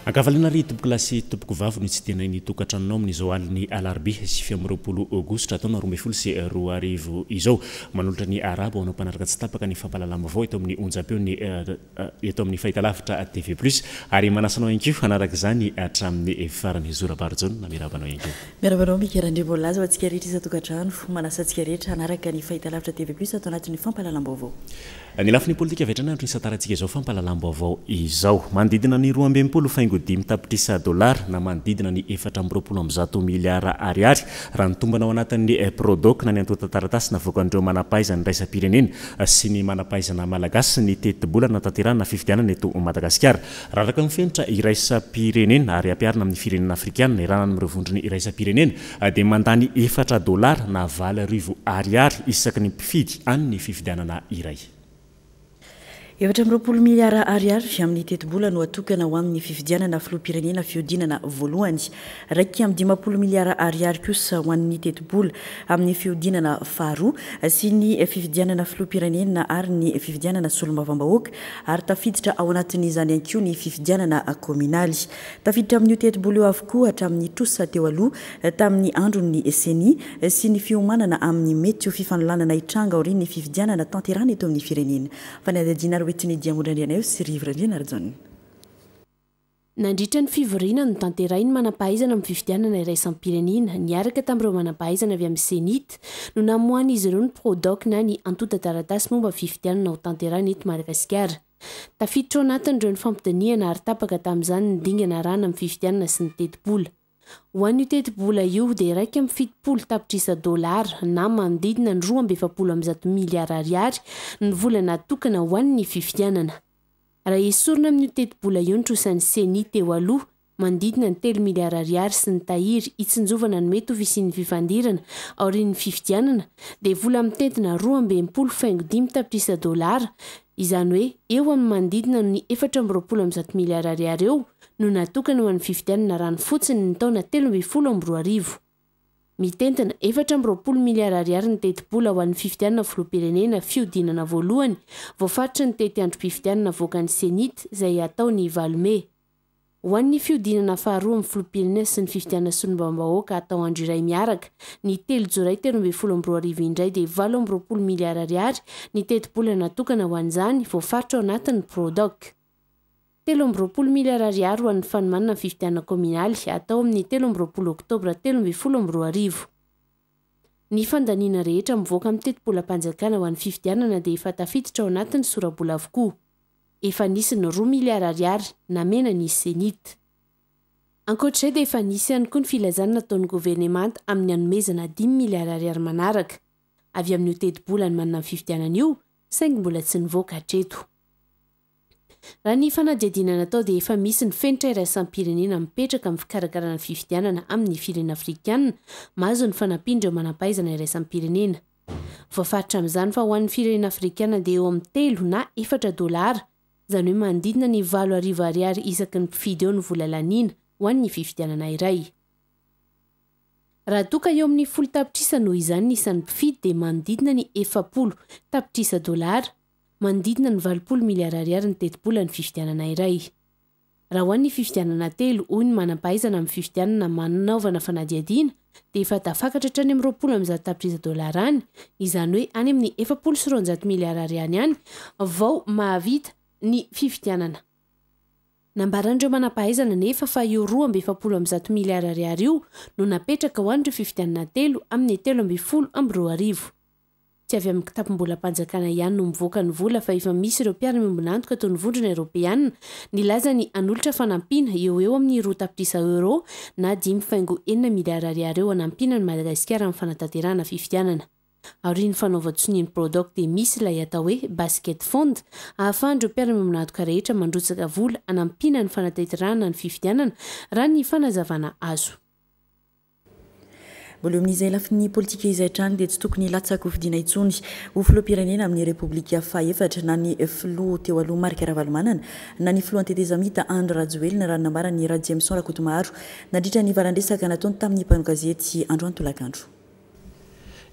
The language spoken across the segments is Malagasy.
Ankavaliana ry tompokolahy sy tompokovavy no hitsidihanay ny tokantranonao amin'izao alin'ny alarobia 29 aogositra taona 2012 izao. Manolotra ny arahaba ho anao mpanaraka tsy tapaka ny fampahalalam-baovao eto amin'ny onjam-peon'ny eto amin'ny fahitalavitra TV Plus ary manasa anao ihany koa hanaraka izany hatramin'ny farany. Zo Rabarijaona miarahaba anao ihany koa. Miarahaba anao Mika Randriamboalaza ho antsika rehetra isan-tokantrano. Manasa antsika rehetra hanaraka ny fahitalavitra TV Plus ato anatin'ny fampahalalam-baovao. Ny lafiny politika avy hatrany andro nisantarantsika izao fampahalalam-baovao izao. Manodidina ny 62.5 tapitrisa dolara na manodidina ny 124 miliara ariary raha ny tombana ao anatin'ny Prodoc na ny antontan-taratasy navoakan'ireo manam-pahaizana iraisam-pirenena sy ny manam-pahaizana malagasy ny tetibola nanatanterahana fifidianana eto Madagasikara. Raha araka ny fenitra iraisam-pirenena ary ampiharina amin'ny firenena afrikanina iarahana amin'ireo vondrona iraisam-pirenena dia mandany efatra dolara na 8000 ariary isaky ny mpifidy any ny fifidianana iray. 24 miliara ariary amin'ny tetibola no atokana ho amin'ny fifidianana filoham-pirenena fihodinana voalohany. 51 miliara ariary kosa ho an'ny tetibola amin'ny fihodinana faharoa sy ny fifidianana filoham-pirenena ary ny fifidianana solombavambahoaka ary tafiditra ao anatin'izany ihany koa ny fifidianana kaominaly. Tafiditra amin'io tetibola io avokoa hatramin'ny trosa teo aloha tamin'ny andron'ny Ceni sy ny fiomanana amin'ny mety ho fifanolanana hitranga aorian'ny fifidianana tanterahana eto amin'ny firenena. Fanadihadiana roetin'i Diamondra Andrianaivo sy Rivo Randrianarijaona. Nandritra ny fivoriana notanterahin'ny manampahaizana amin'ny fifidianana iraisam-pirenena niaraka tamin'ireo manampahaizana avy amin'ny Cenit no namoahan'izy ireo ny Prodoc na ny antontan-taratasy momba ny fifidianana hotanterahina eto Madagasikara. Tafiditra ao anatin'ireo ny fampidinihana ary tapaka tamin'izany ny dingana arahana amin'ny fifidianana sy ny tetibola. Ho an'io tetibola io dia 71 tapitrisa dolara na manodidina ny 142 miliara ariary ny vola natokana ho an'ny fifidianana. Raha esorina amin'io tetibola io ny trosan'ny Ceni teo aloha, manodidina ny telo miliara ariary sy ny tahiry hitsinjovana ny mety ho fisian'ny fifandirana aorian'ny fifidianana dia vola mitentina 62.5 tapitrisa dolara, izany hoe eo amin'ny manodidina ny 124 miliara ariary eo no natokana ho an'ny fifidianana rano fotsiny ny taona 2013. Mitentina 24 miliara ariary ny tetibola ho an'ny fifidianana filoham-pirenena fihodinana voalohany voafaritry ny tetiandrom-pifidianana avoakan'ny Cenit izay hatao ny valo mey. Ho an'ny fihodinana faharoa amin'ny filoham-pirenena sy ny fifidianana solombavambahoaka hatao andro iray miaraka ny telo jolay 2013 indray dia 28 miliara ariary ny tetibola natokana ho an'izany voafaritra ao anatin'ny Prodoc. 23 miliara ariary ho an'ny fanomanana ny fifidianana kaominaly hatao amin'ny 23 oktobra 2013. Ny fandaniana rehetra mivoaka amin'ny tetibolam-panjakana ho an'ny fifidianana dia efa tafiditra ao anatin'ny sora-bola avokoa. Efa nisy ny roa miliara ariary namena ny Cenit. Ankoatra izay dia efa nisy ihany koa ny filazana nataon'ny governemanta amin'ny hanomezana dimy miliara ariary manaraka avy amin'io tetibola hanomanana ny fifidianana io saingy mbola tsy nivoaka hatreto. Raha ny fanadihadiana natao dia efa misy ny fenitra iraisam-pirenena mipetraka amin'ny fikarakarana ny fifidianana amin'ny firenena afrikanina mahazo ny fanampian'ireo manampahaizana iraisam-pirenena. Voafaritra amin'izany fa ho an'ny firenena afrikanina dia eo amin'ny telo na efatra dolara, izany hoe manodidina ny 8000 ariary isaky ny mpifidy eo ny vola laniana ho an'ny fifidianana iray. Raha toa ka eo amin'ny folo tapitrisa noho izany ny isan'ny mpifidy dia manodidina ny 40 tapitrisa dolara, Manodidina ny 80 miliara ariary ny tetibolan'ny fifidianana iray. Raha ho an'ny fifidianana telo, hoy ny manam-pahaizana amin'ny fifidianana manaovana fanadihadiana, dia efa tafakatra hatrany amin'ny 120 tapitrisa dolara any, izany hoe any amin'ny 240 miliara ariany any vao mahavita ny fifidianana. Nambaran'ireo manam-pahaizana anefa fa io 142 miliara ariary io no napetraka ho an'ireo fifidianana telo amin'ny 2013. Tsy avy amin'ny kitapom-bolam-panjakana ihany no mivoaka ny vola fa efa misy ireo mpiara-miombon'antoka toy ny Vondrona Eoropeana nilaza ny hanolotra fanampiana eo ho eo amin'ny roa tapitrisa euros na dimy faingo enina miliara ariary eo hanampiana an'i Madagasikara amin'ny fanatanterahana fifidianana. Aorian'ny fanaovan-tsonia ny Prodoc dia misy ilay atao hoe Basket Fund ahafahan'ireo mpiara-miombon'antoka rehetra mandrotsaka vola hanampiana ny fanatanterahana ny fifidianana raha ny fanazavana azo. Mbola eo amin'izay lafiny politika izay hatrany dia tsy tokony hilatsa-kofidina intsony ho filoham-pirenena amin'ny Repoblika fahefatra na ny filoha teo aloha Marc Ravalomanana na ny filohan'ny tetezamita Andry Rajoelina raha ny nambaran'i Rajemison Rakotomaharo nandritra ny valan-dresaka nataony tamin'ny mpanao gazety androany tolakandro.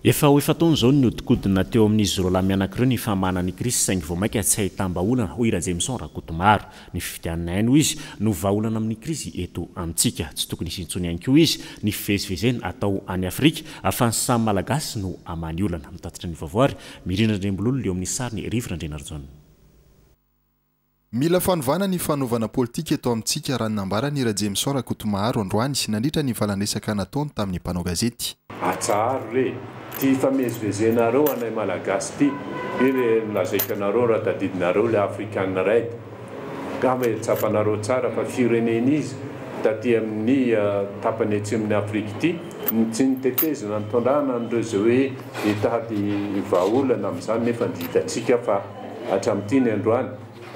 Efa ho efa-taona izao no nihodinkodina teo amin'izy roalahy mianaka ireo ny famahana ny krizy saingy vao mainka tsy ahitam-bahaolana, hoy Rajemison Rakotomaro. Ny fifidianana ihany, hoy izy, no vahaolana amin'ny krizy eto amintsika. Tsy tokony hisy intsony ihany koa, hoy izy, ny fivezivezena atao any Afrika fa ny samy Malagasy no hamaha ny olana. Mitatitra ny vaovao ary Mirindra Andriambololona eo amin'ny sarin'i Rivo Randrianarijaona. Mila fanovana ny fanaovana politika eto amintsika raha ny nambaran'i Rajemison Rakotomaharo androany nandritra ny valandresaka nataony tamin'ny mpanao gazety. Atsaharo re ty famezivezenareo anay Malagasy ty, io le nolazaiko anareo raha tadidinareo le African Raid, ngamba tsapanareo tsara fa firenena izy taty amin'ny tapany atsimon'i Afrika ity no tsy nitetezana nitondrana an'ireo izay hoe hitady vahaolana amin'izany nefa dia hitantsika fa hatramin'ity ny androany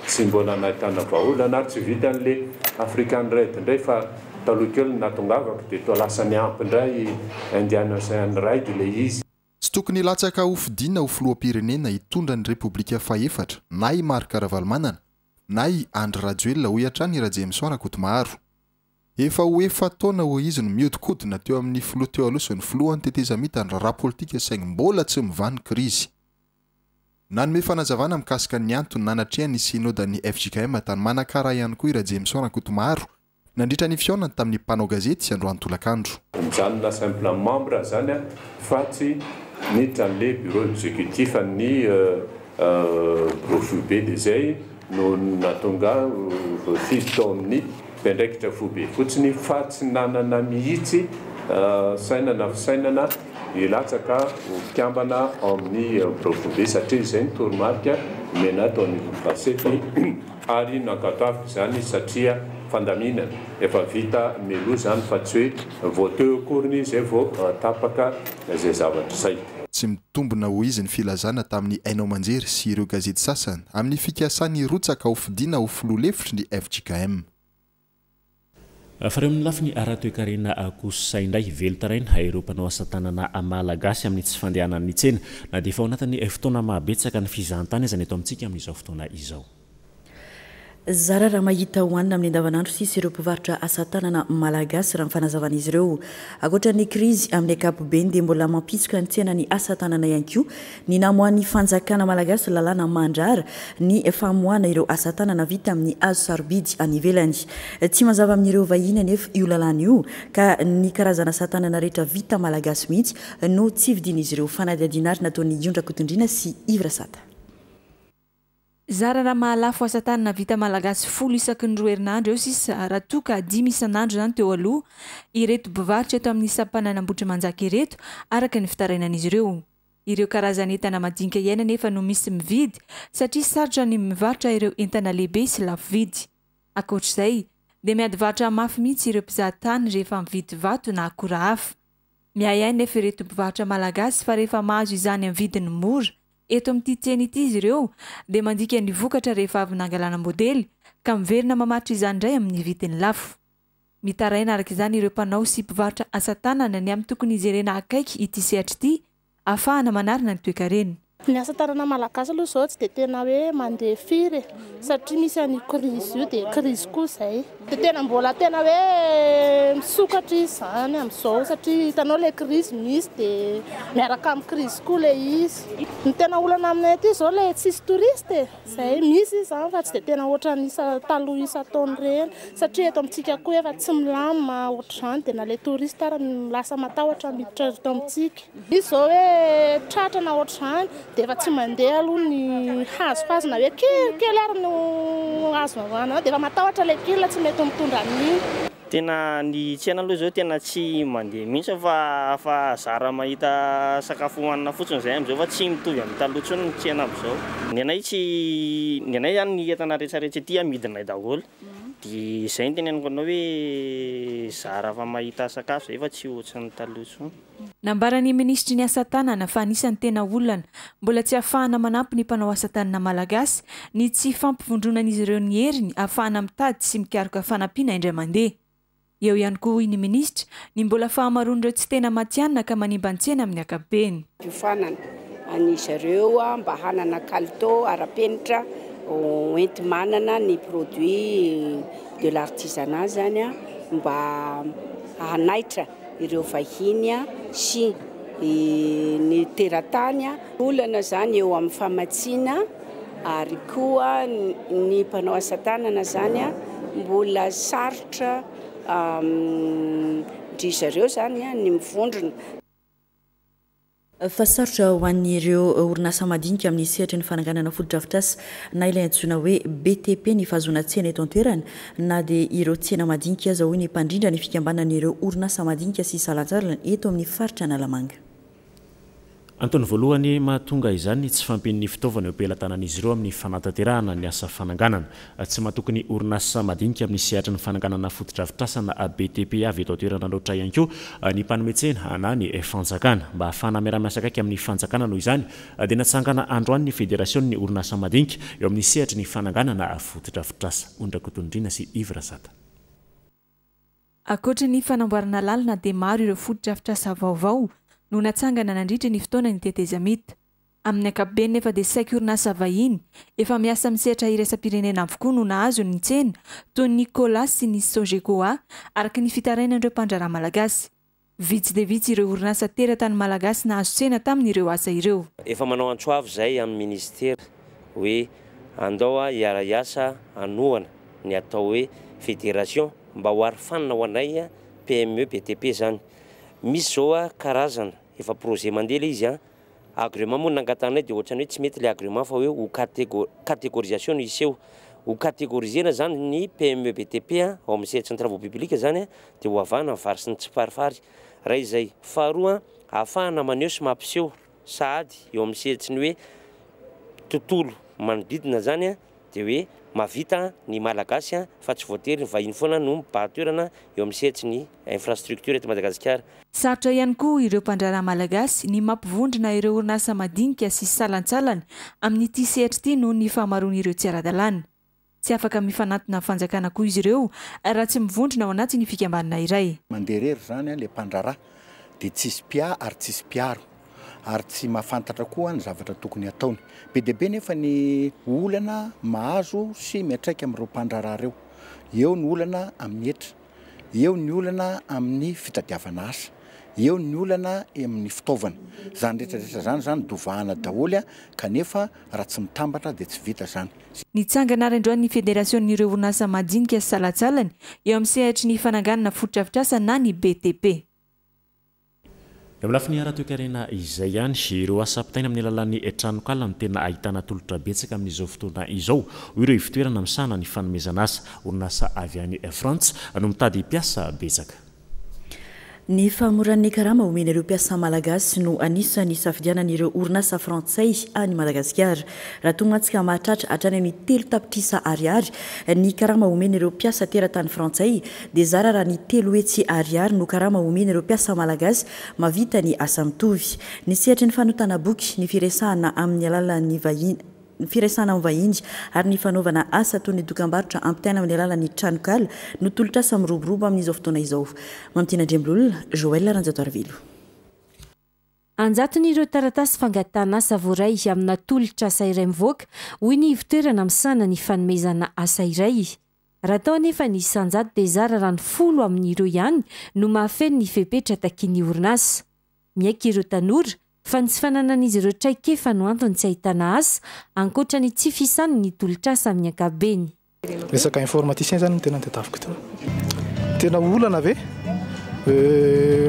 tsy mbola nahitana vahaolana ary tsy vitan'le African Raid indray fa taloha kely ny nahatongavako dia toa lasa niampy indray Indian Ocean Raid ilay izy. Tsy tokony hilatsaka hofidiana ho filoham-pirenena hitondra ny Repoblika fahefatra na i Marc Ravalomanana na i Andry Rajoelina, hoy hatrany i Rajemison Rakotomaharo. Efa ho efa-taona, hoy izy, no mihodinkodina teo amin'ny filoha teo aloha sy ny filohan'ny tetezamita ny raharaha politika saingy mbola tsy mivaha ny krizy. Nanome fanazavana mikasika ny antony nanatrehany ny synodan'ny fjkm tany Manakara ihany koa i Rajemison Rakotomaharo nandritra ny fihaonany tamin'ny mpanao gazety androany tolakandro. Mijanona simple membre zany aho fa tsy niditra an'le bureau executif an'ny bureau foibe dia zay no nahatonga ahy ho voafidy tao amin'ny mpiandraikitra foibe fotsiny fa tsy nanana mihitsy saina na fisainana hilatsaka ho mpikambana ao amin'ny birao foibe satria izay ny toromarika nomena ahy tao anivon'ny Fasety ary nankatoaviko izany satria fandaminana efa vita mialoha izany fa tsy hoe vao teo akoriny izay vao tapaka izay zavatra izay. Tsy mitombina hoy izy ny filazana tamin'ny haino aman-jery sy ireo gazety sasany amin'ny fikasany hirotsaka ho fidiana ho filoha lefitry ny fjkm. Fa eo amin'ny lafiny ara-toekarena kosa indray, velon-taraina ireo mpanao asa tanana malagasy amin'ny tsy fandehanan'ny tsena na dia efa ao anatin'ny fotoana mahabetsaka ny fizahantany aza ny eto amintsika amin'izao fotoana izao. Zara raha mahita hohanina amin'ny andavanandro sisa ireo mpivarotra asa tanana malagasy raha ny fanazavan'izy ireo. Ankoatra ny krizy amin'ny ankapobeny dia mbola mampitsoka ny tsenan'ny asa tanana ihany koa ny namoahan'ny fanjakana malagasy lalàna mandrara ny famoahana ireo asa tanana vita amin'ny hazo sarobidy any ivelany. Tsy mazava amin'ireo vahiny anefa io lalàna io ka ny karazana asa tanana rehetra vita malagasy mihitsy no tsy vidian'izy ireo. Fanadihadiana ary nataon'i Iondra Kotondriana sy Yves Rasata. Zara raha mahalafo asa tanana vita malagasy folo isaky ny roa herinandro eo sisa raha toa ka dimy isan'andro izany teo aloha ireto mpivarotra eto amin'ny sampanan'Ambohitrimanjaka ireto araka ny fitarainan'izy ireo. Ireo karazan'entana madinika ihany anefa no misy mividy satria sarotra ny mivarotra ireo entana lehibe sy lafo vidy. Ankoatr'izay dia miady varotra mafy mihitsy ireo mpizaha tany rehefa mividy vato na akora hafa. Miahiahy nefa ireto mpivarotra malagasy fa rehefa mahazo izany amin'ny vidiny mora eto amin'ity tsena ity izy ireo dia mandika ny vokatra rehefa avy nangalana modely ka miverina mamaritra izany indray amin'ny vidiny lafo. Mitaraina araka izany ireo mpanao sy mpivarotra asa tanana ny amin'ny tokony hijerena akaiky ity sehatra ity ahafahana manarina ny toekarena. Ny asa tanana malagasy aloha izao tsy dia tena hoe mandeha firy e, satria misy an'io krizy io dia krizy koa izay. Dia tena mbola tena hoe misokatra izy izany amin'izao satria hitanao ilay krizy misy dia miaraka amin'ny krizy koa ilay izy. Ny tena olana aminay aty izao ilay tsisy touriste e, izay misy izy izany fa tsy dia tena ohatran'ny isa taloha isan-taona ireny satria eto amintsika koa efa tsy milamina ohatr'izany dia na ilay touriste ary lasa matahotra miditra eto amintsika. Misy izao hoe tratra na ohatr'izany dia efa tsy mandeha aloha ny hazohazo na hoe kelikely ary no azo anao dia efa matahotra ilay kil tsy mety mitondra an'iny. Tena ny tsena aloha izao tena tsy mandeha mihitsy fa fa zara mahita sakafo hohanina fotsiny izay amin'izao fa tsy mitovy amin'ny taloha intsony ny tsena amin'izao. Ny anay tsy ny anay izany ny entana rehetrarehetra ety amidinay daholo dia izay no teneniko anao hoe zara fa mahita sakafo izay fa tsy ohatran'ny taloha intsony. Nambaran'ny minisitry ny asa tanana fa anisan'ny tena olana mbola tsy ahafahana manampy ny mpanao asa tanana malagasy ny tsy fampivondronan'izy ireo ny heriny ahafahana mitady sy mikaroka fanampiana indray mandeha. Eo ihany koa hoy ny minisitra ny mbola fahamaroan'ireo tsy tena matihanina ka manimba ny tsena amin'ny ankapobeny. Fiofanana an'i zareo mba hanana kalitao ara-penitra hoenti-manana ny produit de l'artisanat zany mba hanaitra ireo vahiny sy ny teratany. Olana izany eo amin'ny famatsiana ary koa ny mpanao asa tanana izany mbola sarotra amin-dry zareo izany ny mivondrona. Fa sarotra ho an'ireo orinasa madinika amin'ny sehatry ny fananganana fotodrafitrasa na ilay antsoina hoe BTP ny fahazoana tsena eto an-toerana na dia ireo tsena madinika aza hoy ny mpandrindra ny fikambanan'ireo orinasa madinika sy salantsalany eto amin'ny faritra Analamanga. Antony voalohany mahatonga izany ny tsy fahampian'ny fitaovana eo am-pelatanan'izy ireo amin'ny fanatanterahana ny asa fananganana. Tsy matoky ny orinasa madinika amin'ny sehatry ny fananganana fotodrafitrasa na BTP avy eto an-toerana loatra ihany koa ny mpanome tsena na ny fanjakana. Mba hahafahana miara-miasa akaiky amin'ny fanjakana noho izany dia natsangana androany ny federasionin'ny orinasa madinika eo amin'ny sehatry ny fananganana fotodrafitrasa. Ony Rakotonindrina sy Yves Razata. Ankoatra ny fanamboarana lalana dia maro ireo fotodrafitrasa vaovao no natsangana nandritra ny fotoanan'ny tetezamita. Amin'ny ankapobeny nefa dia saiky orinasa vahiny efa miasa amin'ny sehatra iraisam-pirenena avokoa no nahazo ny tsena toy ny Colas sy ny Sogecoa araka ny fitarainan'ireo mpandraharaha malagasy. Vitsy dia vitsy ireo orinasa teratany malagasy nahazo tsena tamin'ireo asa ireo. Efa manao antso avo izay amin'ny minisitera hoe andao hiara-hiasa hanohana ny atao hoe fédération mba ho arofanina ho anay PME BTP izany. Misy izao karazana efa projet mandeha ilay izy an, agrément moa no nangatahanay dia ohatran'ny hoe tsy mety ilay agrément fa hoe ho catégorisation no hiseho. Ho catégoriser-na izany ny PME BTP ao amin'ny sehatry ny travaux publics izany dia ho avahana ny vary sy ny tsiparifary. Iray izay. Faharoa, ahafahana maneho sy mampiseho sahady eo amin'ny sehatry ny hoe tontolo manodidina izany dia hoe mahavita ny Malagasy fa tsy voatery ny vahiny foana no mibahan-toerana eo amin'ny sehatry ny infrastructure eto Madagasikara. Sarotra ihany koa ireo mpandraharaha malagasy ny mampivondrona ireo orinasa madinika sy salantsalany amin'ity sehatra ity noho ny fahamaroan'ireo tsy ara-dalàna. Tsy afaka mifanantona amin'ny fanjakana koa izy ireo raha tsy mivondrona ao anatin'ny fikambanana iray. Mandeha irery izany ilay mpandraharaha dia tsisy mpiahy ary tsisy mpiaro ary tsy mahafantatra koa ny zavatra tokony hataony. Be dia be nefa ny olana mahazo sy miantraika amin'ireo mpandraharaha ireo. Eo ny olana amin'ny hetra, eo ny olana amin'ny fitadiavana asa, eo ny olana amin'ny fitaovana. Izany rehetra rehetra izany izany dovahana daholo kanefa raha tsy mitambatra dia tsy vita izany. Nitsangana ary androany ny federasionin'ireo orinasa madinika sy salantsalany eo amin'ny sehatry ny fananganana fotodrafitrasa na ny BTP. Eo amin'ny lafiny ara-toekarena izay ihany, ireo asa ampitaina amin'ny alalan'ny tranonkala no tena ahitana tolotra betsaka amin'izao fotoana izao, hoy ireo ivotoerana misahana ny fanomezana asa. Orinasa avy any Frantsa no mitady mpiasa betsaka. Ny fahamoran'ny karama omena ireo mpiasa malagasy no anisan'ny isafidianan'ireo orinasa frantsay any Madagasikara. Raha toa mantsy ka mahatratra hatrany amin'ny 3 tapitrisa ariary ny karama omena ireo mpiasa teratany frantsay dia zara raha ny 300 ariary no karama omena ireo mpiasa malagasy mahavita ny asa mitovy. Ny sehatry ny fanotana boky, ny firesahana amin'ny alalan'ny vahiny, ny firesahana amin'ny vahiny ary ny fanaovana asa toy ny dokambarotra ampitaina amin'ny alalan'ny tranonkala no tolotr'asa miroborobo amin'izao fotoana izao. Mamitiana Andriambololona, Joël Ranjatoarivelo. Anjatony ireo taratasy fangatahana asa voaray amina tolotr'asa iray mivoaka, hoy ny ivotoerana misahana ny fanomezana asa iray. Raha atao anefa ny isan-jato dia zara raha ny 10 amin'ireo ihany no mahafeno ny fepetra takian'ny orinasa. Miaiky ireo tanora fa ny tsy fananan'izy ireo traikefa no antony tsy ahitana asa, ankoatra ny tsy fisan'ny tolotr'asa amin'ny ankapobeny. Resaka informaticien zany no tena nitadiaviko teo. Tena olana ve?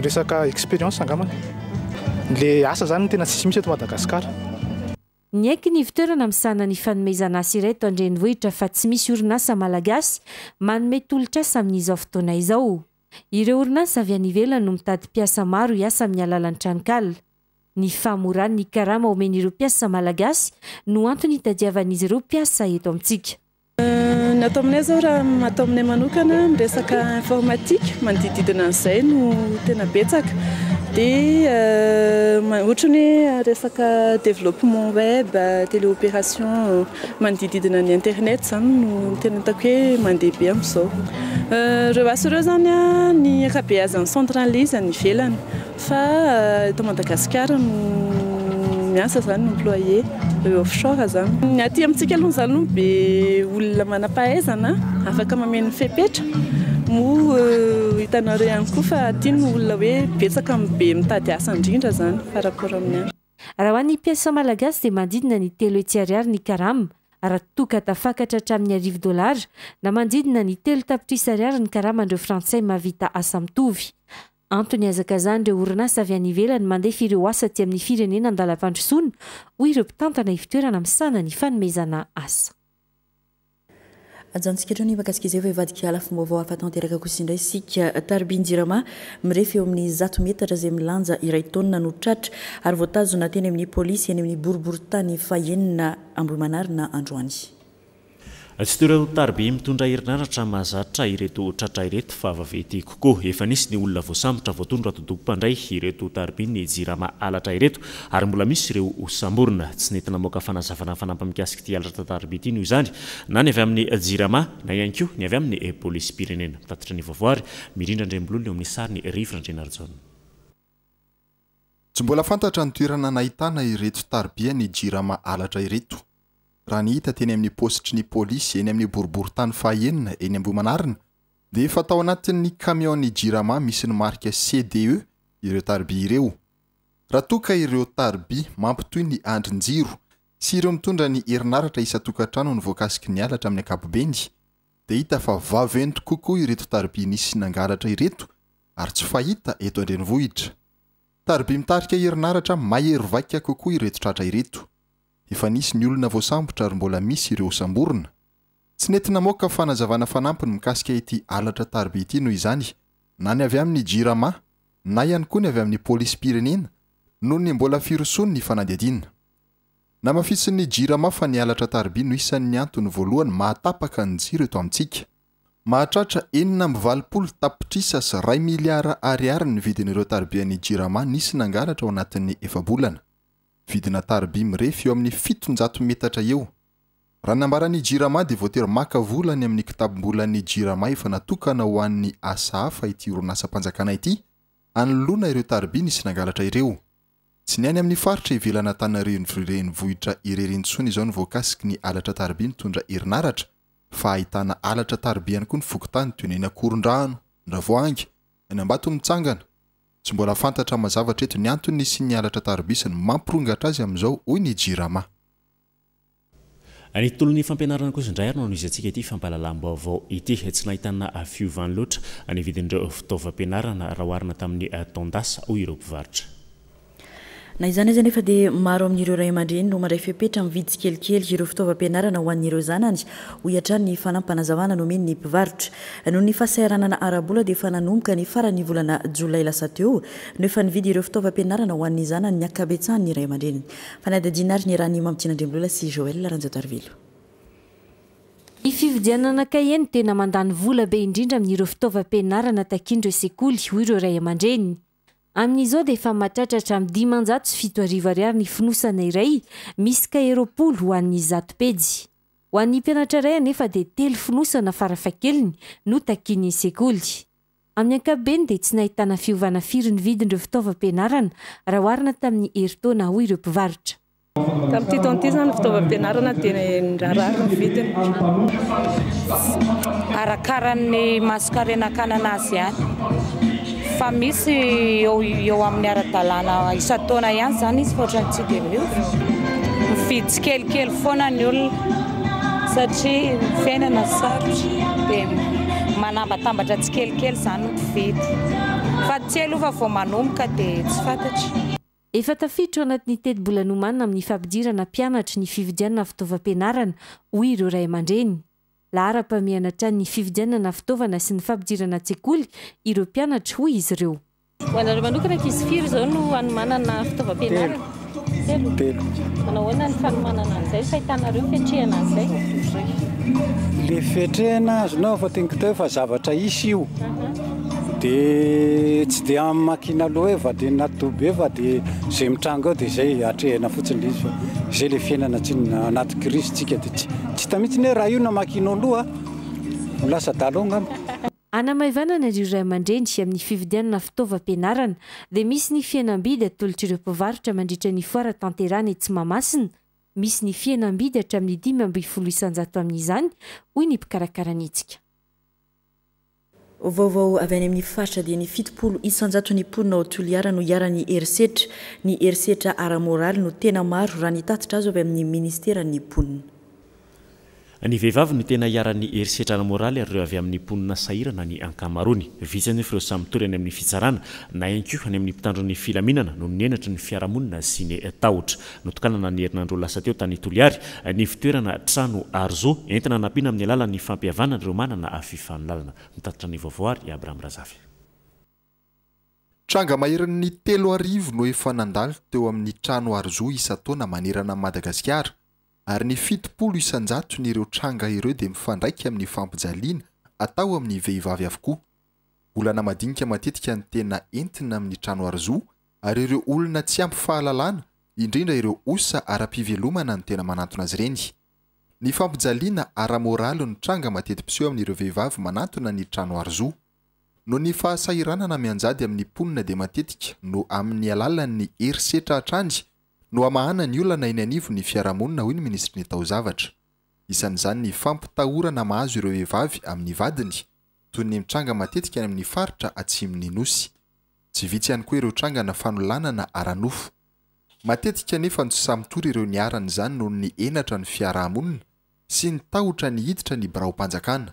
Resaka expérience angambany. Le asa zany no tena tsisy mihitsy eto Madagasikara. Niaiky ny ivotoerana misahana ny fanomezana asa iray eto an-drenivohitra fa tsy misy orinasa malagasy manome tolotr'asa amin'izao fotoana izao. Ireo orinasa avy any ivelany no mitady mpiasa maro hiasa amin'ny alalan'ny tranonkala. Ny fahamoran'ny karama omen'ireo mpiasa malagasy no antony hitadiavan'izy ireo mpiasa eto amintsika. Ny atao aminay izao raha atao aminay manokana miresaka informatique manodidididina an'izay no tena betsaka. Dia ohatra ny hoe resaka développement web, téléopération manodididina ny internet izany no tena hitako hoe mandeha be amin'izao. Ireo asa ireo izany ny ankabeazan'ny centre an'ilay izy any ivelany fa eto Madagasikara no miasa izany ny employé offshore izany. Ny aty amintsika aloha izany no be olona manam-pahaizana afaka mameno ny fepetra. Moa hitanareo ihany koa fa aty ny olona hoe betsaka no be mitady asa indrindra izany par rapport amin'ny any. Raha ho an'ny mpiasa malagasy dia manodidina ny 300 ariary ny karama, raha toa ka tafakatra hatramin'ny 1000 dolara na manodidina ny 3 tapitrisa ariary ny karaman'ireo frantsay mahavita asa mitovy. Antony ihazakazahan'ireo orinasa avy any ivelany mandefa ireo asa aty amin'ny firenena an-dalam-pandrosoana, hoy ireo mpitantana ivotoerana misahana ny fanomezana asa. Ajanontsika hatreo ny mahakasika izay fa hivadika lafim-baovao hafa tanteraka kosa indray isika. Tarobin-jirama mirefy eo amin'ny 100 metatra izay milanja iray taonina no tratra ary voatazona teny amin'ny polisy eny amin'ny boriborintany fahenina Ambohimanarina androany. Tsy toy ireo tariby mitondra herinaratra mahazatra ireto tratra ireto fa vaventy kokoa. Efa nisy ny olona voasambotra voatondro atidoha mpandray ireto taribin'ny Jirama halatra ireto ary mbola misy ireo hosamborina. Tsy nety namoaka fanazavana fanampiny mikasika ity halatra tariby ity noho izany na ny avy amin'ny Jirama na ihany koa ny avy amin'ny polisim-pirenena. Mitatitra ny vaovao ary Mirindra Andriambololona eo amin'ny sariny Rivo Randrianarijaona. Tsy mbola fantatra ny toerana nahitana ireto taribian'ny Jirama halatra ireto. Raha ny hita teny amin'ny paositry ny polisy eny amin'ny boriborintany fahaenina eny Ambohimanarina dia efa tao anatin'ny camion-n'ny Jirama misy ny marika CDE ireo tariby ireo. Raha toa ka ireo tariby mampitohy ny andrin-jiro sy ireo mitondra ny herinaratra isan-tokantrano no voakasiky ny halatra amin'ny ankapobeny dia hita fa vaventy kokoa ireto tariby nisy nangalatra ireto ary tsy fahita eto an-drenivohitra. Tariby mitarika herinaratra mahery vaika kokoa ireto tratra ireto. Efa nisy ny olona voasambotra ary mbola misy ireo hosamborina. Tsy nety namoaka fanazavana fanampiny mikasika ity halatra tariby ity noho izany na ny avy amin'ny Jirama na ihany koa ny avy amin'ny polisim-pirenena noho ny mbola firosoan'ny fanadihadiana. Namafisin'ny Jirama fa ny halatra tariby no isan'ny antony voalohany mahatapaka ny jiro eto amintsika. Mahatratra 186 tapitrisa sy 1 miliara ariary ny vidin'ireo taribian'ny Jirama nisy nangalatra ao anatin'ny efa-bolana. Vidina tariby mirefy eo amin'ny 700 metatra eo. Raha nambaran'ny Jirama dia voatery maka vola any amin'ny kitapom-bolan'ny Jirama efa natokana ho an'ny asa hafa ity orinasam-panjakana ity anoloana ireo tariby nisy nangalatra ireo. Tsy ny any amin'ny faritra ivelan'Antananarivo renivohitra irery intsony izao no voakasiky ny halatra tariby mitondra herinaratra fa ahitana halatra tariby ihany koa ny fokontany toy ny eny Ankorondrano, Andravoahangy, eny Ambatomitsangana. Tsy mbola fantatra mazava hatreto ny antony nisian'ny halatra tariby sy ny mampirongatra azy amin'izao hoy ny Jirama. Ny tontolon'ny fampianarana kosa indray ary no anohizantsika ity fampahalalam-baovao ity. Tsy nahitana fiovany loatra ny vidin'ireo fitaovam-pianarana raha oharina tamin'ny taon-dasa hoy ireo mpivarotra. Na izany aza nefa dia maro amin'ireo ray aman-dreny no mandray fepetra mividy tsikelikely ireo fitaovam-pianarana ho an'ireo zanany, hoy hatrany ny fanampinazavana nomen'ny mpivarotra. Noho ny fahasahiranana ara-bola dia efa nanomboka ny faran'ny volana jolay lasa teo no efa nividy ireo fitaovam-pianarana ho an'ny zanany ny ankabetsahan'ny ray aman-dreny. Fanadihadiana ary ny raha ny Mamitiana Andriambola sy Joël Ranjatoarivelo. Ny fividianana kahie no tena mandany vola be indrindra amin'ireo fitaovam-pianarana takian'ireo sekoly, hoy ireo ray aman-dreny. Amin'izao dia efa mahatratra hatramin'ny 705 ariary ny fonosana iray misy kahie 20 ho an'ny 100 pejy. Ho an'ny mpianatra iray anefa dia telo fonosana farafahakeliny no takian'ny sekoly. Amin'ny ankapobeny dia tsy nahitana fiovana firy ny vidin'ireo fitaovam-pianarana raha oharina tamin'ny herintaona, hoy ireo mpivarotra. Tamin'ity taona ity izany ny fitaovam-pianarana dia nirarary ny vidiny. Arakaran'ny mason-karena-kanana azy ihany fa misy eo eo amin'ny ara-dalàna isan-taona ihany izany izy fa ohatran'ny tsy dia miova. Mividy tsikelikely foana ny olona satria ny fiainana sarotra dia manambatambatra tsikelikely izany ny mpividy fa tsy aloha fa vao manomboka dia tsy fantatra. Efa tafiditra ao anatin'ny tetibola nomanina amin'ny fampidirana mpianatra ny fividianana fitaovam-pianarana, hoy ireo ray aman-dreny. Laharam-pahamehana hatrany ny fividianana fitaovana sy ny fampidirana an-tsekoly ireo mpianatra, hoy izy ireo. Ho anareo manokana, ankizy firy izao no hanomanana fitaovam-pianarana? Telo. Telo. Manao ahoana ny fanomanana an'izay, fahitanareo fiatrehana an'izay? Le fiatrehana azonao fa teniko teo fa zavatra isy io. Dia tsy dia amakina aloha hoe vadina toby fa dia izay mitranga eo dia izay atrehina fotsiny ilay izy fa izay ilay fiainana tsinona anaty crise tsika dia tsy tsy hita mihitsy hoe raha io no amakianao loha ho lasa dalo angamba. Hanamaivanana ireo ray aman-dreny amin'ny fividianana fitaovam-pianarana dia misy ny fihenam-bidy atolotr'ireo mpivarotra mandritra ny foara tanterahana etsy Mahamasina. Misy ny fihenam-bidy hatramin'ny 15% amin'izany, hoy ny mpikarakara ny hetsika. Vaovao avy any amin'ny faritra dia ny 70 isan-jaton'ny mponina ao Toliara no iharan'ny herisetra. Ny herisetra ara-moraly no tena maro raha ny tatitra azo avy amin'ny ministeran'ny mponina. Ny vehivavy no tena iharan'ny herisetra ara-moraly ary ireo avy amin'ny mponina sahirana ny ankamaroany. Vitsy anefa ireo samy mitory any amin'ny fitsarana na ihany koa any amin'ny mpitandro ny filaminana noho ny henatry ny fiarahamonina sy ny tahotra. Notokanana ny herinandro lasa teo tany Toliary ny fitoerana trano aro zo entina hanampiana amin'ny alalan'ny fampihavanana ireo manana fifanolanana. Mitatitra ny vaovao ary i Abraham Razafy. Tranga maherin'ny 3000 no efa nandalo teo amin'ny trano aro zo isan-taona manerana an'i Madagasikara ary ny 70 isan-jaton'ireo tranga ireo dia mifandraika amin'ny fampijaliana atao amin'ny vehivavy avokoa. Olana madinika matetika ny tena entina amin'ny trano aro-zo ary ireo olona tsy ampy fahalalana, indrindra ireo osa ara-pivelomana no tena manantona azy ireny. Ny fampijaliana ara-moraly no tranga mateti-piseho amin'ireo vehivavy manantona ny trano aro-zo. Noho ny fahasahiranana mianjady amin'ny mponina dia matetika no amin'ny alalan'ny herisetra hatrany no hamahana ny olana eny anivon'ny fiarahamonina hoy ny minisitry ny taozavatra. Isan'izany ny fampitahorana mahazo ireo vehivavy amin'ny vadiny, toy ny mitranga matetika any amin'ny faritra atsimon'ny Nosy. Tsy vitsy ihany koa ireo trangana fanolanana ara-nofo. Matetika anefa no tsy sahy mitory ireo niharan'izany noho ny henatra ny fiarahamonina sy ny tahotra ny hiditra ny biraom-panjakana.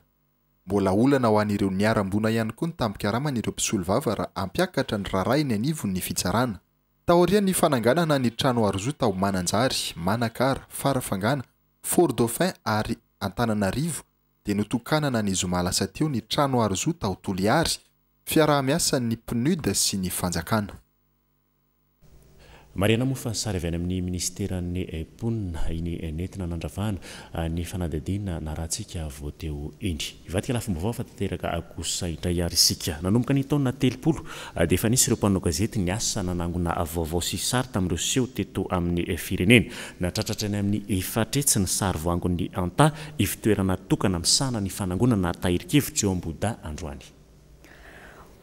Mbola olana ho an'ireo niharam-boina ihany koa ny tambin-karaman'ireo mpisolovava raha hampiakatra ny raharaha eny anivon'ny fitsarana. Taorian'ny fananganana ny trano Arzo tao Mananjary, Manakara, Farafangana, Fort Dauphin ary Antananarivo dia notokanana ny zoma lasa teo ny trano Arzo tao Toliary, fiaraha-miasan'ny PNUD sy ny fanjakana. Marihana moa fa sary avy any amin'ny minisiteran'ny mponina iny nentina nandravahana ny fanadihadiana narahantsika vao teo iny. Hivadika lafim-baovao fa tanteraka kosa indray ary isika. Nanomboka ny taona 30 dia efa nisy ireo mpanao gazety niasa nanangona vaovao sy sary tamin'ireo seho teto amin'ny firenena. Nahatratra hatrany amin'ny 400 ny sary voangon'ny Anta, ivotoerana tokana misahana ny fanangonana tahirin-kevitra eo Ambohidahy androany.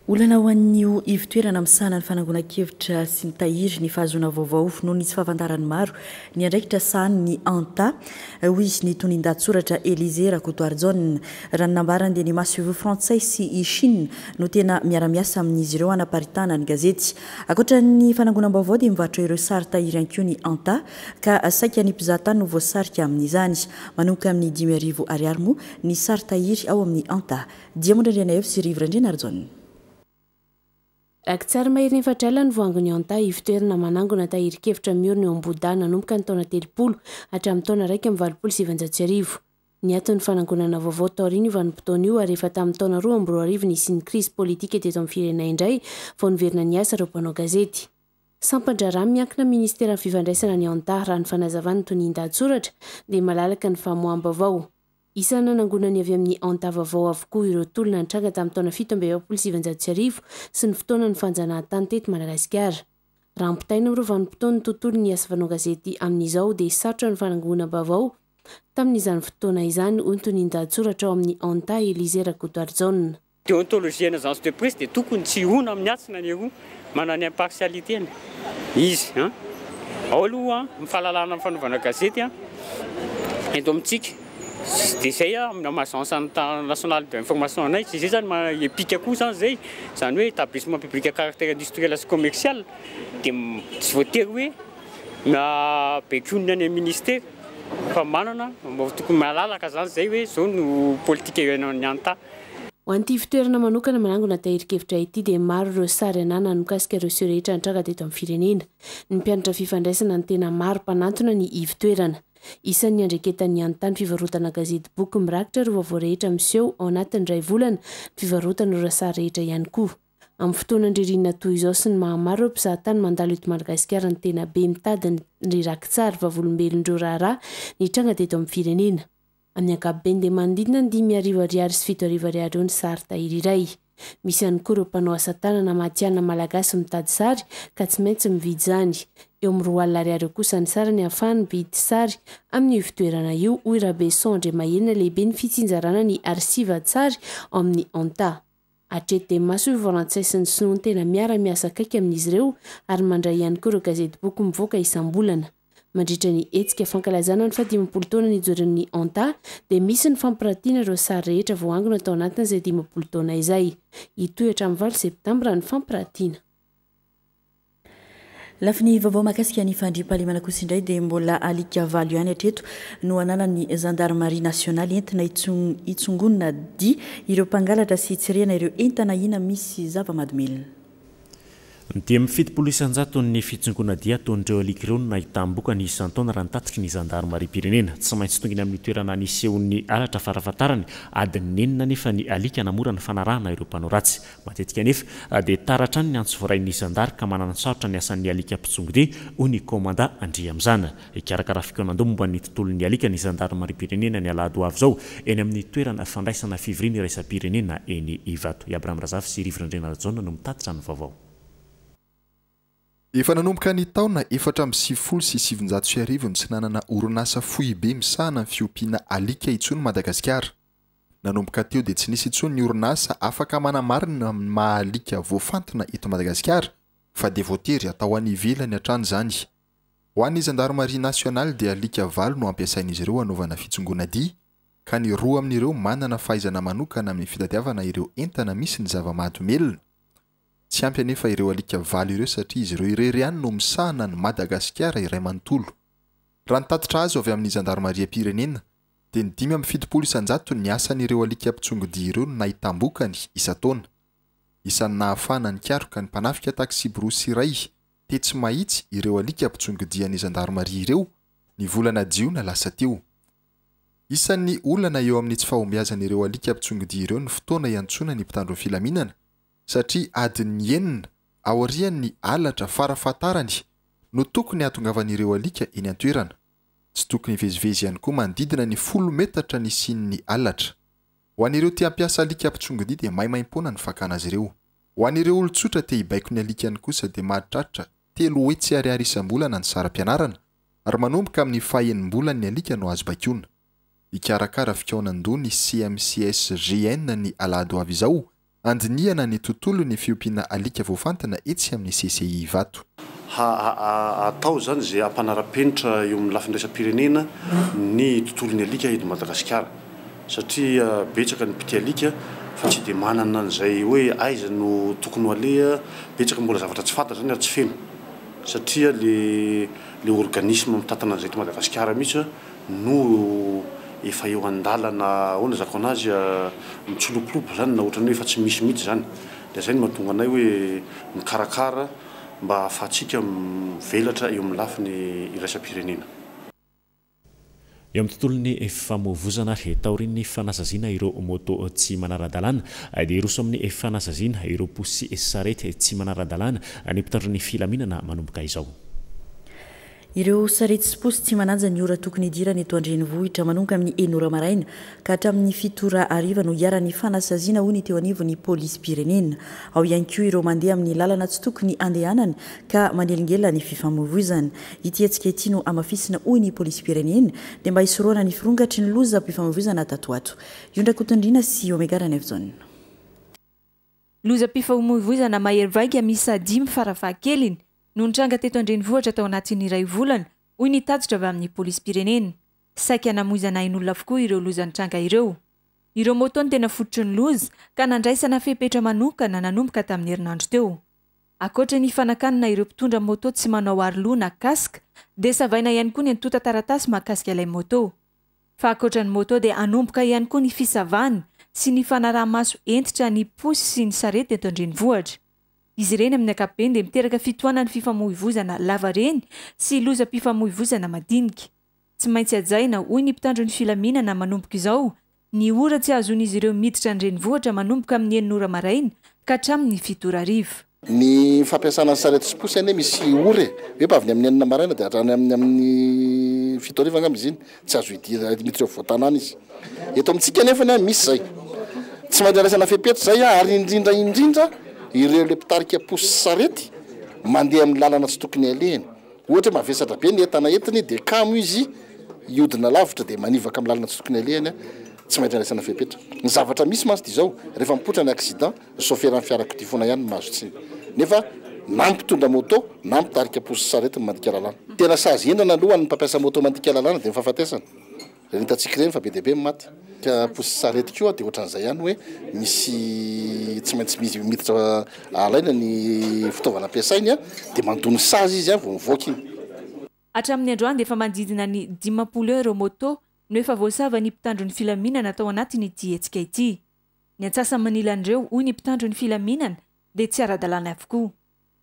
Olana ho an'io ivotoerana misahana ny fanangonan-kevitra sy mitahiry ny fahazoana vaovao noho ny tsy fahafantaran'ny maro ny andraikitra sahanin'ny Anta, hoy ny tonin-dahatsoratra Elysée Rakotoarijaona. Raha ny nambarany dia ny masoivoho frantsay sy i Chine no tena miara-miasa amin'izy ireo hanaparitahana ny gazety. Ankoatra ny fanangonam-baovao dia mivarotra ireo sary tahiry ihany koa ny Anta ka saika ny mpizahatany no voasarika amin'izany. Manomboka amin'ny 5000 ariary moa ny sary tahiry ao amin'ny Anta. Diamondra Andrianaivo sy Rivo Randrianarijaona. Rakitsary maherin'ny 4 alina ny voangon'i Anta, ivotoerana manangona tahirin-kevitra miorina eo Ambohidahy nanomboka ny taona 30 hatramin'ny taona 1981. Niato ny fanangonana vaovao taorian'io vanim-potoana io ary efa tamin'ny taona 2002 nisian'ny krizy politika teto amin'ny firenena indray vao niverina niasa ireo mpanao gazety. Sampan-draharaha miankina amin'ny ministeran'ny fifandraisana ny Anta, raha ny fanazavan'ny tonian-dahatsoratra dia malalaka ny famoaham-baovao. Isan'ny nanangonany avy amin'ny Anta vaovao avokoa ireo tolona nitranga tamin'ny taona 1947 sy ny fotoanan'ny fanjanahantany teto Madagasikara. Raha ampitahaina amin'ireo vanim-potoan'ny tontolon'ny asa fanao gazety amin'izao dia sarotra ny fanangonam-baovao tamin'izany fotoana izany, hoy ny tonian-dahatsoratra ao amin'ny Anta, Elysée Rakotoarijaona. Déontologie ny agence de presse dia tokony tsy hihona amin'ny atsy na ny eroa, manana ny impartialité-ny izy an. Ao aloha ny fahalalahana amin'ny fanaovana gazety an, eto amintsika, dia izay an, amin'ny maha agence nationale d'information anay, tsy izay izany maha EPIC koa izany izay, izany hoe établissement public à caractère industriel sy commercial, dia tsy voatery hoe na baikoin'ny any amin'ny ministera fa manana, tokony malalaka izany izay hoe izao no politika eo amin'ny ANTA. Ho an'ity fitoerana manokana manangona tahirin-kevitra ity dia maro ireo sary ananany mikasika ireo seho rehetra nitranga teto amin'ny firenena. Ny mpianatra fifandraisana no tena maro mpanantona ny ivotoerana. Isan'ny niandraiketan'ny Antany fivarotana gazety boky mirakitra ireo vaovao rehetra miseho ao anatin'ny iray volana ny fivarotana ireo sary rehetra ihany koa. Amin'ny fotoanan-dririnina toy izao sy ny maha maro ireo mpizahatany mandalo eto Madagasikara ny tena be mitady ny rakitsary vavolombelon'ireo raharaha nitranga teto amin'ny firenena. Amin'ny ankapobeny dia manodidina ny 5000 ariary sy 7000 ariary eo ny sary tahiry iray. Misy ihany koa ireo mpanao asa tanana matihanina malagasy mitady sary ka tsy maintsy mividy izany. Eo amin'ny 20 alina ariary eo kosa ny sarany ahafahany mividy sary amin'io fitoerana io, hoy Rabeson Andriamahelina lehiben'ny fitsinjarana ny arsiva-tsary ao amin'ny Anta. Hatreto dia masoivoho frantsay sy ny sinoa no tena miara-miasa akaiky amin'izy ireo ary mandray ihany koa ireo gazetiboky mivoaka isam-bolana. Mandritra ny hetsika fankalazana ny fahadimampolo taona nijoroan'ny Anta dia misy ny fampiratiana ireo sary rehetra voaangona tao anatin'izay 50 taona izay. Hitohy hatramin'ny valo septambra ny fampiratiana. Lafiny vaovao mahakasika ny fandriampahalemana kosa indray dia mbola alika valo ihany hatreto no ananan'ny zandarimaria nasionaly entina hitsongonina dia ireo mpangalatra sy hitsirihana ireo entana ahiana misy zava-mahadomelina. Dimy isan-jaton'ny fitsongoana dia ataon'ireo alika ireo no nahitam-bokany isan-taona raha ny tatitry ny zandarimariam-pirenena. Tsy maintsy tonga eny amin'ny toerana nisehoan'ny halatra farafahatarany adiny enina anefa ny alika hanamora ny fanarahana ireo mpanao ratsy. Matetika anefa dia tara hatrany ny antso voarain'ny zandary ka manana-tsarotra ny asan'ny alika mpitsongodia, hoy ny kaomandà Andriamizana. Hikarakara fikaonandoha momba ny tontolon'ny alika ny zandarimariam-pirenena ny alahady ho avy izao eny amin'ny toerana fandraisana fivoriana iraisam-pirenena eny Ivato. I Abraham Razafy sy Rivo Randrianarajaona no mitatitra ny vaovao. Efa nanomboka ny taona 1994 no tsy nanana orinasa foibe misahana ny fiompiana alika intsony Madagasikara. Nanomboka teo dia tsy nisy intsony ny orinasa afaka manamarina ny maha alika voafantina eto Madagasikara fa dia voatery atao any ivelany hatrany izany. Ho an'ny zandarimaria nasionaly dia alika valo no ampiasain'izy ireo hanaovana fitsongoana dia, ka ny roa amin'ireo manana fahaizana manokana amin'ny fitadiavana ireo entana misy ny zava-mahadomelina. Tsy ampy anefa ireo alika valo ireo satria izy ireo irery ihany no misahana an'i Madagasikara iray manontolo. Raha ny tatitra azo avy amin'ny zandarimariam-pirenena dia ny 75 isan-jaton'ny asan'ireo alika mpitsongodia ireo no nahitam-bokany isan-taona. Isan'ny nahafahana nikaroka ny mpanafika taksiborosy iray tetsy Mahitsy ireo alika mpitsongodian'ny zandarimaria ireo ny volana jiona lasa teo. Isan'ny olana eo amin'ny tsy fahombiazan'ireo alika mpitsongodia ireo ny fotoana iantsoana ny mpitandro ny filaminana satria adin'ny enina aorian'ny halatra farafahatarany no tokony hahatongavan'ireo alika eny an-toerana. Tsy tokony hivezivezy ihany koa manodidina ny folo metatra nisian'ny halatra. Ho an'ireo te hampiasa alika mpitsongodia dia maimaimpoana ny fakana azy ireo. Ho an'ireo olon-tsotra te hibaiko ny alikany kosa dia mahatratra 300 ariary isam-bolana ny saram-pianarana ary manomboka amin'ny faha-enim-bolan'ny alika no azo baikoina. Hikarakara fikaonan-doha ny CMCSGN ny alahady ho avy izao handinihana ny tontolon'ny fiompiana alika voafantina etsy amin'ny CCI Ivato. Ha atao izany izay hampanara-penitra eo amin'ny lafiny iraisam-pirenena ny tontolon'ny alika eto Madagasikara satria betsaka ny mpitia alika fa tsy dia manana an'izay hoe aiza no tokony ho aleha, betsaka mbola zavatra tsy fantatra izany ary tsy feno satria le le organisme mitantana an'izay eto Madagasikara mihitsy no efa eo an-dalana ahoana izako anazy mitsilopilopy izany na ohatran'ny hoe efa tsy misy mihitsy izany dia izay no mahatonga anay hoe mikarakara mba hahafahantsika mivelatra eo amin'ny lafiny iraisam-pirenena. Eo amin'ny tontolon'ny famoivozana ary taorian'ny fanasaziana ireo moto tsy manara-dalàna dia hiroso amin'ny fanasaziana ireo posy sarety tsy manara-dalàna ny mpitandro ny filaminana manomboka izao. Ireo sarety sy posy tsy manaja ny ora tokony hidirana eto an-drenivohitra manomboka amin'ny enina ora maraina ka hatramin'ny fito ora hariva no iharan'ny fanasaziana hoy ny teo anivon'ny polisim-pirenena. Ao ihany koa ireo mandeha amin'ny lalana tsy tokony handehanany ka manelingelina ny fifamoivoizana. Ity hetsika ity no hamafisina hoy ny polisim-pirenena dia mba hisorohana ny firongatry ny lozam-pifamoivoizana tato ho ato. Iondrakotondriana sy Omega Ranaivojaona. Lozam-pifamoivoizana mahery vaika miisa dimy farafahakeliny no nitranga teto an-drenivohitra tao anatin'ny iray volana, hoy ny tatitra avy amin'ny polisim-pirenena. Saika namoizana ain'olona avokoa ireo loza nitranga ireo. Ireo moto no tena fototry ny loza, ka nandraisana fepetra manokana nanomboka tamin'ny herinandro teo. Ankoatra ny fanakanana ireo mpitondra moto tsy manao aroloha na casque, dia savaina ihany koa ny antontan-taratasy mahakasika ilay moto. Fa ankoatra ny moto dia hanomboka ihany koa ny fisavana sy ny fanaraha-maso hentitra ny posy sy ny sarety eto an-drenivohitra. Izy ireny amin'ny ankapobeny dia miteraka fitohanan'ny fifamoivoizana lavareny sy lozam-pifamoivoizana madinika. Tsy maintsy hajaina, hoy ny mpitandro ny filaminana manomboka izao, ny ora tsy ahazoan'izy ireo miditra ny renivohitra manomboka amin'ny enina ora maraina ka hatramin'ny fito ora hariva. Ny fampiasana ny sarety sy posy anie misy ora e! Hoe mba avy ny amin'ny enina maraina dia hatrany amin'ny amin'ny fito hariva angamba izy iny, tsy azo idirana miditra eo afovoan-tanàna izy. Eto amintsika anefany an, misy izay. Tsy maintsy andraisana fepetra izay an, ary indrindra indrindra ireo ilay mpitarika posy sy sarety mandeha amin'ny lalana tsy tokony alehany. Ohatra hoe mavesatra be ny entana entiny dia kamo izy hiodina lavitra dia manivaka amin'ny lalana tsy tokony alehany an, tsy maintsy andraisana fepetra. Ny zavatra misy mantsy dia izao, rehefa mipoitra ny accident, ny saoferan'ny fiarakodia foana ihany no mahazo tsiny. Nefa Na ny mpitondra moto na ny mpitarika posy sy sarety no mandika lalàna. Tena sazy henjana aloha ho an'ny mpampiasa moto mandika lalàna dia ny fahafatesana. Ireny hitantsika ireny fa be dia be ny maty. Ka posy sy sarety koa dia ohatran'izay ihany hoe misy tsy maintsy misy miditra alaina ny fitaovana ampiasainy dia mandoa ny sazy izy vao mivoaka iny. Hatramin'ny androany dia efa manodidina ny 50 eo ireo moto no efa voasavan'ny mpitandro ny filaminana tao anatin'ity hetsika ity. Ny antsasa-manilan'ireo, hoy ny mpitandro ny filaminana, dia tsy ara-dalàna avokoa.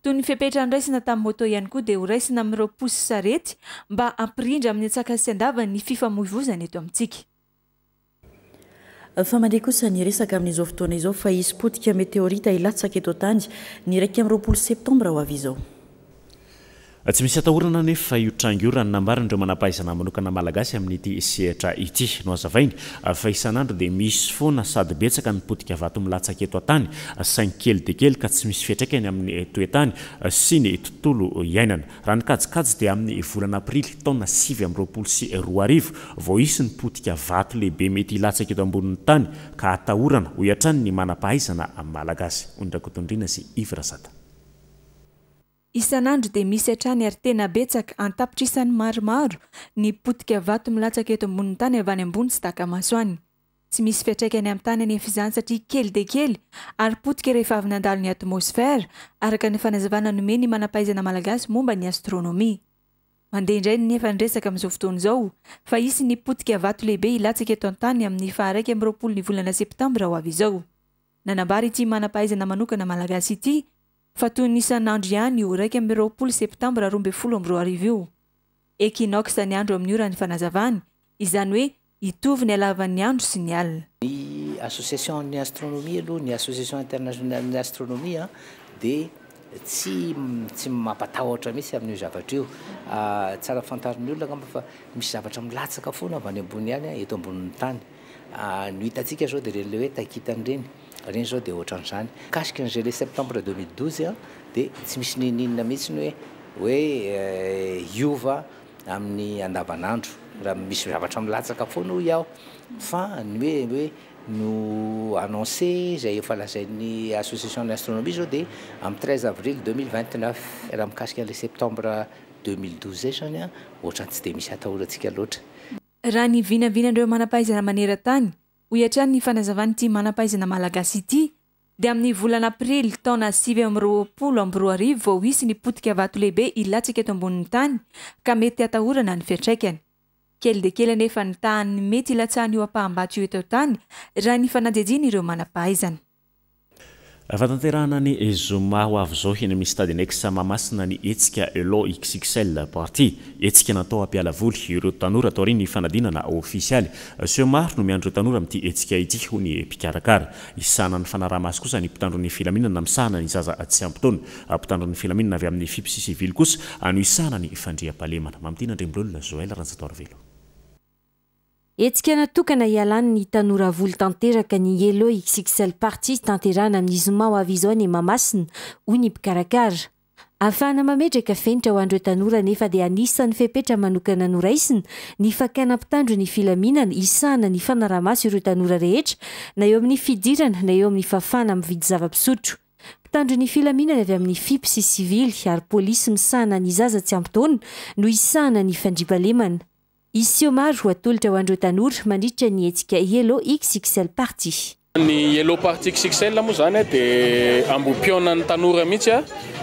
Toy ny fepetra noraisina tamin'ny moto ihany koa dia horaisina amin'ireo posy sarety mba hampirindra amin'ny antsakany sy andavany ny fifamoivozana eto amintsika. Fa mandeha kosa ny resaka amin'izao fotoana izao fa hisy potika meteorita hilatsaka eto an-tany ny 21 septambra ho avy izao. Tsy misy atahorana anefa io tranga io raha ny nambaran'ireo manampahaizana manokana malagasy amin'ity sehatra ity. Nohazavainy fa isan'andro dia misy foana sady betsaka ny potika vato milatsaka eto an-tany saingy kely dia kely ka tsy misy fiantraikany amin'ny toe-tany sy ny tontolo iainana. Raha ny kajikajy dia amin'ny volana aprily taona 2029 vao hisy ny potika vato lehibe mety hilatsaka eto ambonin'ny tany ka atahorana, hoy hatrany ny manampahaizana malagasy. Ony Rakotondriana sy Yves Razata. Isan'andro dia misy hatrany ary tena betsaka, an-tapitrisany maromaro, ny potika vato milatsaka eto ambonin'ny tany avy any ambony tsy taka-maso any. Tsy misy fiantraikany amin'ny tany anefa izany satria kely dia kely ary potika rehefa avy nandalo ny atmosfera, araka ny fanazavana nomen'ny manam-pahaizana malagasy momba ny astronomia. Mandeha indray nefa ny resaka amin'izao fotoana izao fa hisy ny potika vato lehibe hilatsaka eto an-tany amin'ny faha 21 ny volana septambra ho avy izao. Nanambara ity manam-pahaizana manokana malagasy ity fa toy ny isan'andro ihany io 21 septambra 2012 io. Equinoxe ny andro amin'io raha ny fanazavany, izany hoe hitovy ny halavan'ny andro sy ny alina. Ny association ny astronomie aloha, ny association internationale ny astronomie dia tsy tsy mampatahotra mihitsy amin'io zavatra io. Tsara fantarin'ny olona angamba fa misy zavatra milatsaka foana avy any ambony any eto ambonin'ny tany. Ny ho hitantsika izao dia ireny ilay hoe taikitana ireny. Ireny izao dia ohatran'izany. Mikasika ny gelée septembre 2012 dia tsy misy n'inon'inona mihitsy ny hoe hoe hiova amin'ny andavanandro. Raha misy zavatra milatsaka foana hoy aho fa ny hoe hoe no annoncé izay efa lazain'ny association ny astronomie izao dia amin'ny 13 avril 2029. Raha mikasika an'ilay septembre 2012 izay izany an, ohatran'ny tsy dia misy atahorantsika loatra. Raha ny vinavinan'ireo manam-pahaizana maneran-tany, hoy hatrany ny fanazavan'ity manam-pahaizana malagasy ity, dia amin'ny volana aprily taona 2029 vao hisy ny potika vato lehibe hilatsaka eto ambonin'ny tany ka mety hatahorana ny fiantraikany. Kely dia kely anefa ny tahan'ny mety hilatsahan'io ampaham-bato io eto an-tany raha ny fanadihadian'ireo manam-pahaizana. Fatanterahana ny zoma ho avy izao eny amin'ny Stade Annexe Mahamasina ny hetsika Elo XXL Party. Hetsika natao hampiala voly ireo tanora taorian'ny fanadinana ofisialy. Seho maro no miandry ireo tanora amin'ity hetsika ity, hoy ny mpikarakara. Hisahana ny fanaraha-maso kosa ny mpitandro ny filaminana misahana ny zaza tsy ampy taona. Mpitandro ny filaminana avy amin'ny Fip sy sivily kosa no hisahana ny fandriampahalemana. Mamitiana Andriambololona Joël Ranjatoarivelo. Hetsika natokana hialan'ny tanora voly tanteraka ny Yellow XXL Party tanterahana amin'ny zoma ho avy izao any Mahamasina, hoy ny mpikarakara. Ahafahana mametraka fenitra ho an'ireo tanora anefa dia anisan'ny fepetra manokana noraisina ny fakana mpitandro ny filaminana hisahana ny fanaraha-maso ireo tanora rehetra na eo amin'ny fidirana na eo amin'ny fahafahana mividy zava-pisotro. Mpitandro ny filaminana avy amin'ny Fip sy sivily ary polisy misahana ny zaza tsy ampy taona no hisahana ny fandriampahalemana. Hisy seho maro ho atolotra ho an'ireo tanora mandritra ny hetsika Yellow XXL Party. Ny Yellow Party XXL moa izany dia ambohipihaonan'ny tanora mihitsy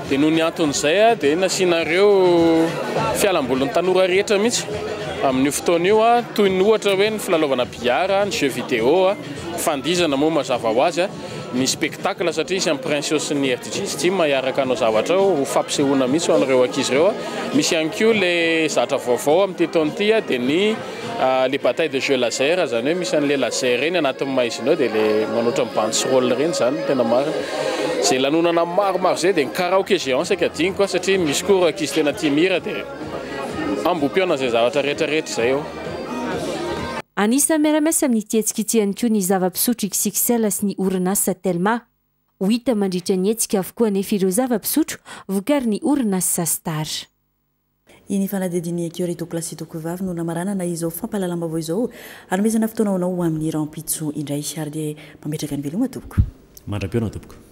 dia noho ny anton'izay dia nasiana ireo fialambolin'ny tanora rehetra mihitsy amin'io fotoana io toy ny ohatra hoe ny filalaovana billard, ny jeux vidéo, fandihizana moa mazava ho azy. ny spectacle satria hisy an'i Princio sy ny RDJ Steam hiaraka hanao zavatra ao ho fampisehoana mihitsy ho an'ireo ankizy ireo. Misy ihany koa ilay zatra vaovao amin'ity taona ity dia ny les batailles de jeux laser, izany hoe misy an'ilay laser ireny anatin'ny maizina ao dia ilay manao ohatran'ny bandy sy rôle ireny izany no tena marina. Izay lanonana maromaro izay dia ny karaoke géant saika adinoko satria misy koa ireo ankizy tena tia mihira dia ambohipihaonana izay zavatra rehetra rehetra izay eo. Anisan'ny miara-miasa amin'ity hetsika ity ihany koa ny zava-pisotro XXL sy ny orinasa Telma. Ho hita mandritra ny hetsika avokoa anefa ireo zava-pisotro vokarin'ny orinasa Star. Iny fanadihadian'ny Ecurie Tokolahy sy Tokovavy no namaranana izao fampahalalam-baovao izao. Hanomezana fotoana ho anao ho amin'ny rahampitso indray. Ary dia mametraka ny veloma tompoko. Mandra-pihaona tompoko.